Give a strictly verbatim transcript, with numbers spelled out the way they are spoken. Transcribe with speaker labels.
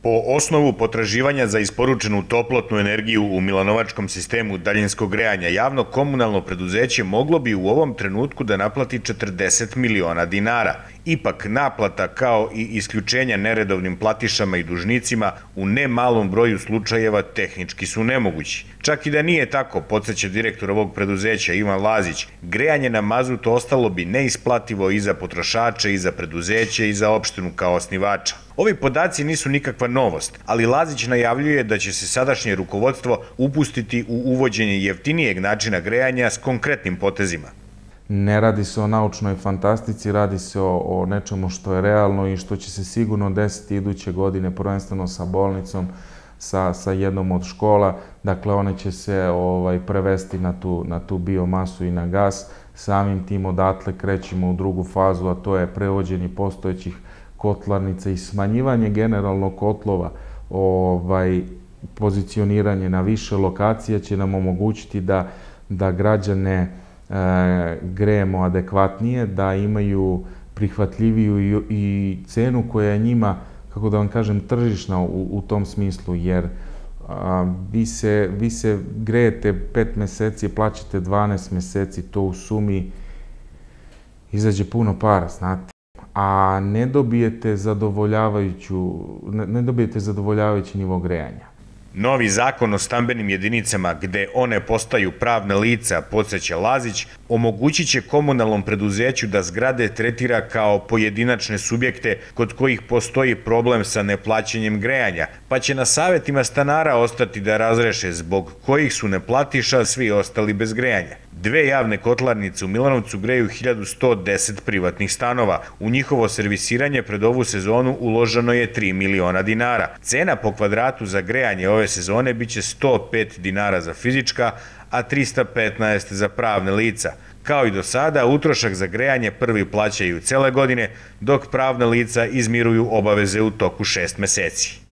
Speaker 1: Po osnovu potraživanja za isporučenu toplotnu energiju u milanovačkom sistemu daljinskog grejanja, javno komunalno preduzeće moglo bi u ovom trenutku da naplati četrdeset miliona dinara. Ipak, naplata kao i isključenja neredovnim platišama i dužnicima u ne malom broju slučajeva tehnički su nemogući. Čak i da nije tako, podsjeća direktor ovog preduzeća Ivan Lazić, grejanje na mazut ostalo bi neisplativo i za potrošače, i za preduzeće, i za opštinu kao osnivača. Ovi podaci nisu nikakva novost, ali Lazić najavljuje da će se sadašnje rukovodstvo upustiti u uvođenje jeftinijeg načina grejanja s konkretnim potezima.
Speaker 2: Ne radi se o naučnoj fantastici, radi se o, o nečemu što je realno i što će se sigurno desiti iduće godine, prvenstveno sa bolnicom, sa, sa jednom od škola. Dakle, one će se ovaj, prevesti na tu, na tu biomasu i na gas. Samim tim odatle krećemo u drugu fazu, a to je prevođenje postojećih kotlarnica i smanjivanje generalno kotlova, ovaj, pozicioniranje na više lokacija će nam omogućiti da, da građane e, grejemo adekvatnije, da imaju prihvatljiviju i, i cenu koja je njima, kako da vam kažem, tržišna u, u tom smislu, jer a, vi, se, vi se grejete pet meseci, plaćate dvanaest meseci, to u sumi izađe puno para, znate. A ne dobijete zadovoljavajuću, ne dobijete zadovoljavajući nivo grejanja.
Speaker 1: Novi zakon o stambenim jedinicama, gde one postaju pravna lica, podsjeća Lazić, omogućit će komunalnom preduzeću da zgrade tretira kao pojedinačne subjekte kod kojih postoji problem sa neplaćanjem grejanja, pa će na savjetima stanara ostati da razreše zbog kojih su neplatiša svi ostali bez grejanja. Dve javne kotlarnice u Milanovcu greju hiljadu sto deset privatnih stanova. U njihovo servisiranje pred ovu sezonu uloženo je tri miliona dinara. Cena po kvadratu za grejanje ove sezone biće sto pet dinara za fizička, a trista petnaest za pravne lica. Kao i do sada, utrošak za grejanje prvi plaćaju cele godine, dok pravna lica izmiruju obaveze u toku šest meseci.